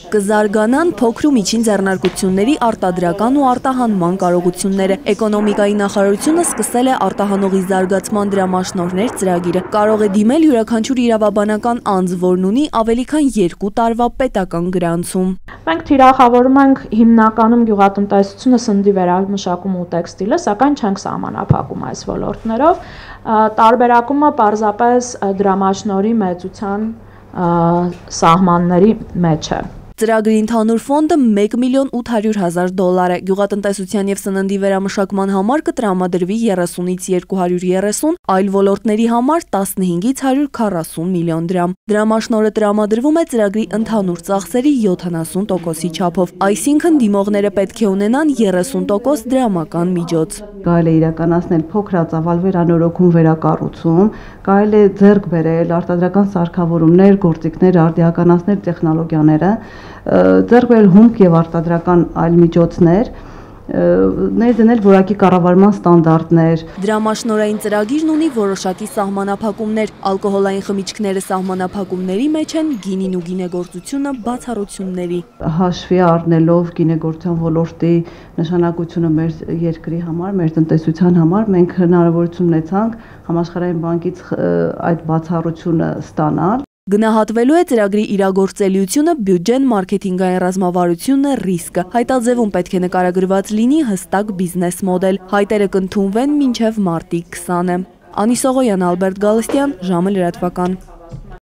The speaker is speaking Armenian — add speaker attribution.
Speaker 1: Կզարգանան փոքր ու միջին ձեռնարկությունների արտադրական ու արտահանման կարողությունները։ Էկոնոմիկայի նախարարությունը սկսել է արտահանողի զարգացման դրամաշնորհներ ծրագիրը։ Կարող է դիմել յուրաքանչյուր իրավաբանական անձ, որն ունի ավելի քան 2 տարվա պետական գրանցում։
Speaker 2: Մենք թիրախավորում ենք հիմնականում գյուղատնտեսությունը, սննդի վերամշակումը ու տեքստիլը, սակայն չենք սահմանափակում այս ոլորտներով։ Տարբերակումը պարզապես դրամաշնորհի մեծության սահմանների մեջ է։
Speaker 1: Ծրագրի ընդհանուր ֆոնդը $1,800,000 է։ Գյուղատնտեսության և սննդի վերամշակման համար կտրամադրվի 30-ից 230, այլ ոլորտների համար 15-ից 140 միլիոն դրամ։ Դրամաշնորհը տրամադրվում է ծրագրի ընդհանուր ծախսերի 70%-ի չափով, այսինքն դիմողները պետք է ունենան 30% դրամական միջոց։
Speaker 3: Կարելի է իրականացնել փոքրածավալ վերանորոգում, վերակառուցում, կարելի է ձեռք բերել արտադրական սարքավորումներ, գործիքներ, արդիականացնել տեխնոլոգիաները, ձեռք բերել հումք եւ արտադրական այլ միջոցներ, ներդնել որակի կառավարման ստանդարտներ։
Speaker 1: Դրամաշնորհային ծրագիրն ունի որոշակի սահմանափակումներ, ալկոհոլային խմիչքները սահմանափակումների մեջ են, գինին ու գինեգործությունը բացառությունների։
Speaker 3: Հաշվի առնելով գինեգործության ոլորտի նշանակությունը մեր երկրի համար, մեր տնտեսության համար, մենք հնարավորություն ունեցանք Համաշխարհային բանկից այդ բացառությունը ստանալ։
Speaker 1: Գնահատվելու է ծրագրի իրագործելիությունը, բյուջեն, մարքեթինգային ռազմավարությունը, ռիսկը։ Հայտաձևում պետք է նկարագրված լինի հստակ բիզնես մոդել։ Հայտերը կընդունվեն մինչև մարտի 20-ը։ Անի Սողոյան, Ալբերտ Գալստյան, ժամը լրատվական։